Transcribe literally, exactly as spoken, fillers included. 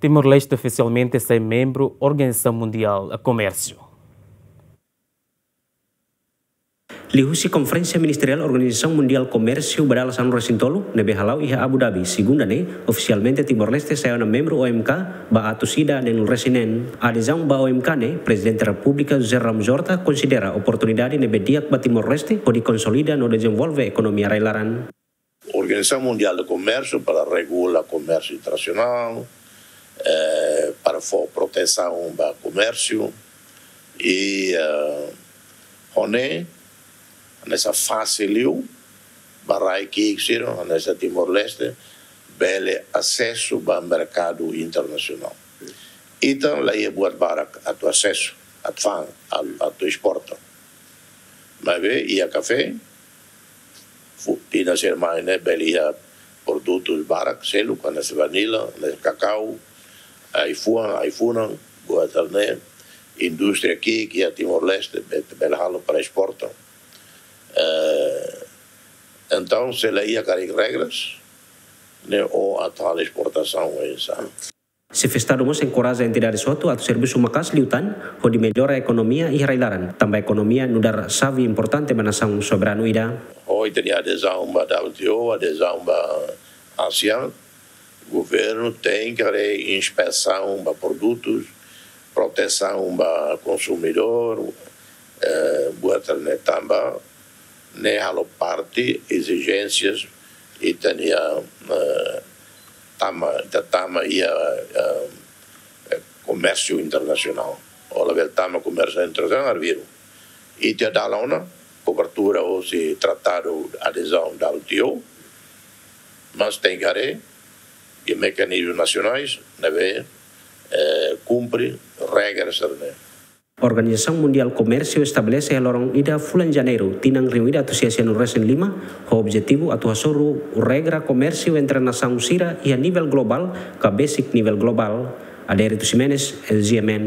Timor-Leste ofisialmente sai membru Organizasaun Mundiál Komérsiu. Liuhusi Konferénsia Ministeriál Organizasaun Mundiál Komérsiu ba dala sanulu-resin-tolu, ne'ebé hala'o iha Abu Dhabi, segunda ne'e, ofisialmente Timor-Leste sai ona membru O M K ba atus ida neenulu-resin-neen. Adezaun ba O M K ne'e, Prezidente Repúblika José Ramos-Horta konsidera oportunidade ne'ebé di'ak ba Timor-Leste hodi konsolida no dezenvolve ekonomia rai-laran. Organizasaun Mundiál de Komérsiu para regula komérsiu internasionál, eh, para fó protesaun ba komérsiu, i, eh, ho ne'e, hanesan fasil liu ba rai ki'ik sira, hanesan Timor-Leste, bele asesu ba merkadu internasionál. Ita la iha buat barak atu asesu, atu fa'an, atu, atu esporta. Maibé iha kafé, fu-, tinan sira mai ne'e bele iha produtus barak seluk, hanesan vanila, hanesan kakau, ai-fuan, ai-funan, buat sira-ne'e, indústria ki'ik iha Timor-Leste, be-, bele halo para esporta. Eh, entaun, se la iha karik regras, ne'e ó atu halo esportasaun oinsá. Xefe Estadu mós enkoraja entidades hotu atu servisu maka'as liután, hodi mellora ekonomia iha rai-laran, tanba ekonomia nu'udar xave importante ba nasaun soberanu ida. Ohin ita-nia adezaun ba W T O, adezaun ba ASEAN, governu tenke haree inspesaun ba produtus, protesaun ba konsumidór, eh, buat sira-ne'e tanba ne'e halo parte ezijénsias ita-nia, eh, tama, ita tama iha, eh, eh, komérsiu internasionál. Ó labele tama komérsiu internasionál arbiru. Ita iha dalan ona, kobertura hosi tratadu adezaun W T O, mas tenke haree iha mekanizmu nasionais ne'ebé, eh, kumpre regras sira-ne'e. Organizasaun Mundiál Komérsiu estabelese iha loron ida fulan Janeiru, tinan rihun ida atus sia sianulu-resin-lima, ho objetivu atu hasoru regra komérsiu entre nasaun sira iha nivel globál, ka besik nivel globál. Adérito Ximenes, L G M N.